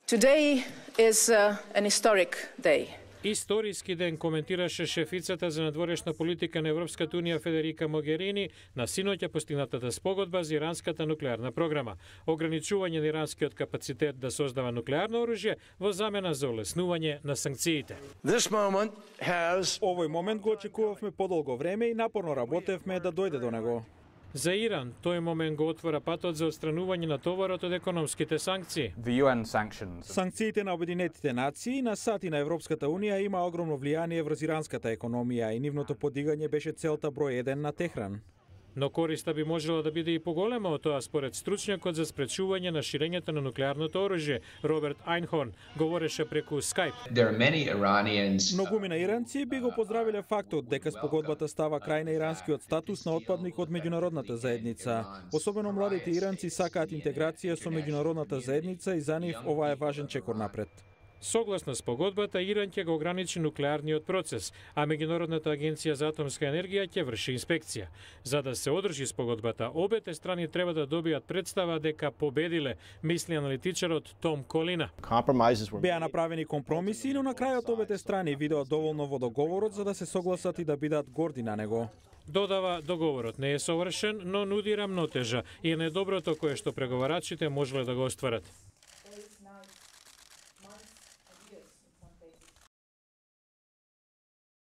Today is an historic day. Историски ден, коментираше шефицата за надворешна политика на Европската унија Федерика Могерини на синоќа постигнатата спогодба за иранската нуклеарна програма. Ограничување на иранскиот капацитет да создава нуклеарно оружје во замена за олеснување на санкциите. Овој момент го очекувавме подолго време и напорно работевме да дојде до него. За Иран, тој момент го отвора патот за отстранување на товарот од економските санкции. Санкциите на Обединетите нации на САД и на Европската унија има огромно влијание врз иранската економија и нивното подигање беше целта број 1 на Техран. Но користа би можела да биде и поголема од тоа според стручњакот за спречување на ширењето на нуклеарното оружје Роберт Айнхорн говореше преку Skype. Многумина иранци би го поздравиле фактот дека спогодбата става крај на иранскиот статус на отпадник од меѓународната заедница. Особено младите иранци сакаат интеграција со меѓународната заедница и за нив ова е важен чекор напред. Согласно спогодбата, Иран ќе го ограничи нуклеарниот процес, а Меѓународната агенција за атомска енергија ќе врши инспекција. За да се одржи спогодбата, обете страни треба да добијат представа дека победиле, мисли аналитичарот Том Колина. Беа направени компромиси, но на крајот обете страни видеа доволно во договорот за да се согласат и да бидат горди на него. Додава, договорот не е совршен, но нуди рамнотежа и е недоброто кое што преговарачите можеле да го остварат.